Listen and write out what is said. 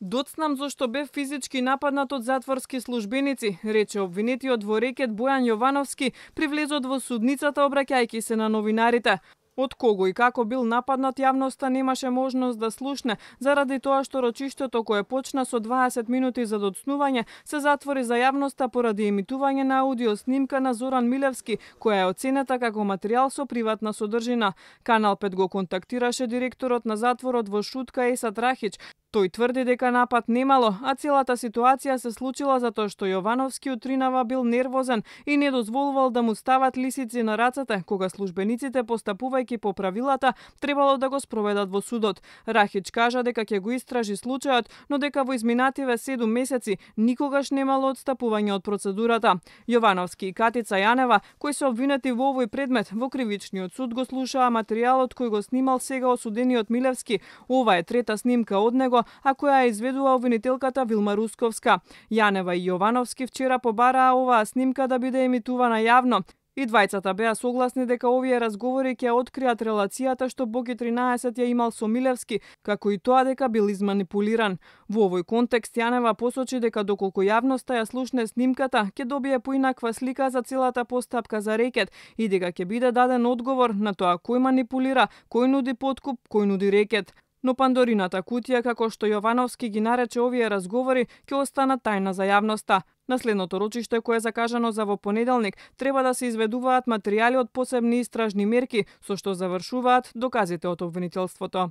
Доцнам зошто бев физички нападнат од затворски службеници, рече обвинетиот во рекет Бојан Јовановски при влезот во судницата обраќајќи се на новинарите. Од кого и како бил нападнат јавноста немаше можност да слушне, заради тоа што рочиштето кое почна со 20 минути за доцнување се затвори за јавноста поради емитување на аудио снимка на Зоран Милевски, која е оценета како материјал со приватна содржина. Канал 5 го контактираше директорот на затворот во Шутка Есат Рахич. Тој тврди дека напад немало, а целата ситуација се случила затоа што Јовановски утринава бил нервозен и не дозволувал да му стават лисици на рацете, кога службениците постапувајќи по правилата требало да го спроведат во судот. Рахич кажа дека ќе го истражи случајот, но дека во изминативе 7 месеци никогаш немало одстапување од процедурата. Јовановски и Катица Јанева, кои се обвинети во овој предмет, во кривичниот суд го слушаа материјалот кој го снимал сега осудениот Милевски. Ова е трета снимка од него, а која ја изведува обвинителката Вилма Русковска. Јанева и Јовановски вчера побараа оваа снимка да биде емитувана јавно. И двајцата беа согласни дека овие разговори ќе откријат релацијата што Боги 13 ја имал со Милевски, како и тоа дека бил изманипулиран. Во овој контекст Јанева посочи дека доколку јавноста ја слушне снимката, ќе добие поинаква слика за целата постапка за рекет и дека ќе биде даден одговор на тоа кој манипулира, кој нуди подкуп, кој нуди рекет. Но Пандорината кутија, како што Јовановски ги нарече овие разговори, ќе останат тајна за јавноста. На следното рочиште, кое е закажано за во понеделник, треба да се изведуваат материјали од посебни истражни мерки, со што завршуваат доказите од обвинителството.